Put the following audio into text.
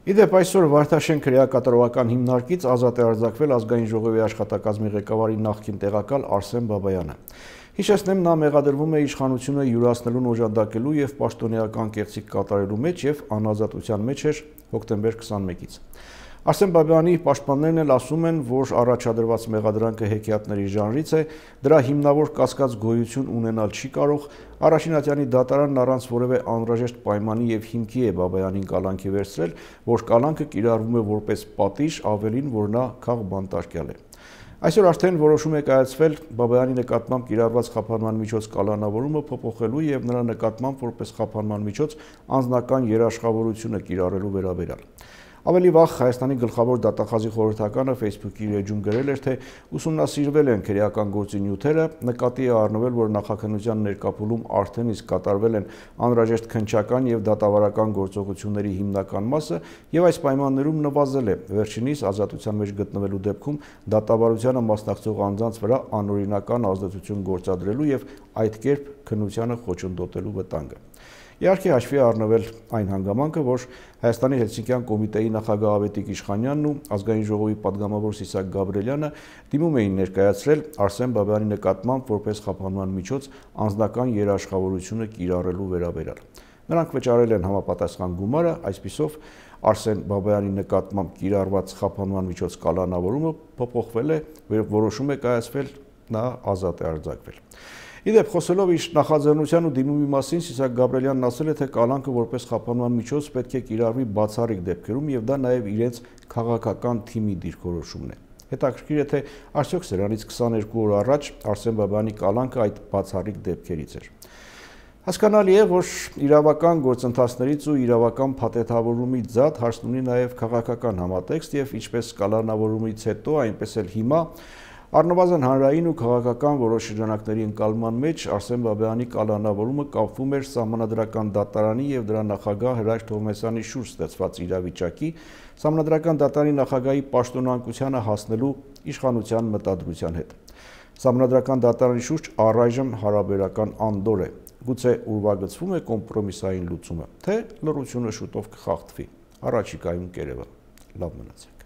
Իդեպ այսօր Վարդաշեն քրեակատարողական հիմնարկից ազատ է արձակվել ազգային ժողովի աշխատակազմի ղեկավարի նախկին տեղակալ Արսեն Բաբայանը։ Հիշեցնեմ, նա մեղադրվում է իշխանությունը յուրացնելուն օժանդակելու եւ պաշտոնեական կեղծիք կատարելու մեջ եւ անազատության մեջ էր հոկտեմբեր 21-ից։ Արսեն Բաբայանի պաշտպաններն էլ ասում են, որ առաջադրված մեղադրանքը հեքիաթների ժանրից է, դրա հիմնավոր կասկած գոյություն ունենալ չի կարող, Առաջինատյանի դատարանն առանց որևէ անհրաժեշտ պայմանի եւ հիմքի է Բաբայանին կալանքի վերցրել, որ կալանքը կիրառվում է որպես պատիժ, ավելին, որ նա քաղբանտարկյալ է։ Այսօր արդեն որոշում է կայացվել Բաբայանի նկատմամբ կիրառված խափանման միջոց կալանավորումը փոփոխելու եւ նրա նկատմամբ որպես խափանման միջոց անձնական երաշխավորությունը կիրառելու վերաբերյալ։ Ավելի վաղ Հայաստանի գլխավոր դատախազի խորհրդականը Facebook-ի էջում գրել էր, թե ուսումնասիրվել են քրեական գործի նյութերը, նկատի է առնվել, որ նախաքննության ներկայացում արդեն իսկ կատարվել են անհրաժեշտ քննչական եւ դատավարական գործողությունների հիմնական մասը եւ այս պայմաններում նվազել է վերջինիս ազատության մեջ գտնվելու դեպքում դատավարությանը մասնակցող անձանց վրա անօրինական ազդեցություն գործադրելու եւ այդ կերպ քննությանը խոչընդոտելու վտանգը։ Իհարկե հաշվի առնվել այն հանգամանքը, որ Հայաստանի Հելսինկյան կոմիտեի նախագահ Ավետիք Իշխանյանն ու ազգային ժողովի պատգամավոր Սիսակ Գաբրելյանը դիմում էին ներկայացրել Արսեն Բաբայանի նկատմամբ որպես խափանման միջոց անձնական երաշխավորությունը կիրառելու վերաբերյալ։ Նրանք վճարել են համապատասխան գումարը, այսպիսով Արսեն Բաբայանի նկատմամբ կիրառված խափանման միջոց կալանավորումը փոփոխվել է, որոշում է կայացվել, նա ազատ է արձակվել։ Իդեպ խոսելով իր նախաձեռնության ու դիմումի մասին Սիսակ Գաբրելյանն ասել է, թե կալանքը որպես խափանման միջոց պետք է կիրառվի բացառիկ դեպքերում եւ դա նաեւ իրենց քաղաքական թիմի դիրքորոշումն է։ Հետաքրքիր է, թե արդյոք սրանից 22 օր առաջ Արսեն Բաբայանի կալանքը այդ բացառիկ դեպքերից էր։ Հասկանալի է, որ իրավական գործընթացներից ու իրավական փաթեթավորումից զատ հարցն ունի նաեւ քաղաքական համատեքստ եւ ինչպես կալանավորումից հետո, այնպես էլ հիմա առնվազն հանրային ու քաղաքական որոշ շրջանակների ընկալման մեջ Արսեն Բաբայանի կալանավորումը կապվում էր Սահմանադրական դատարանի եւ դրա նախագահ Հրաչ Թովմասյանի շուրջ ստեղծված իրավիճակի, Սահմանադրական դատարանի նախագահի պաշտոնանկությանը հասնելու իշխանության մտադրության հետ։ Սահմանադրական դատարանի շուրջ առայժմ հարաբերական անդոր է։ Գուցե ուրվագծվում է կոմպրոմիսային լուծումը, թե լռությունը շուտով կխախտվի։ Առաջիկայում կերևա։ Լավ մնացեք։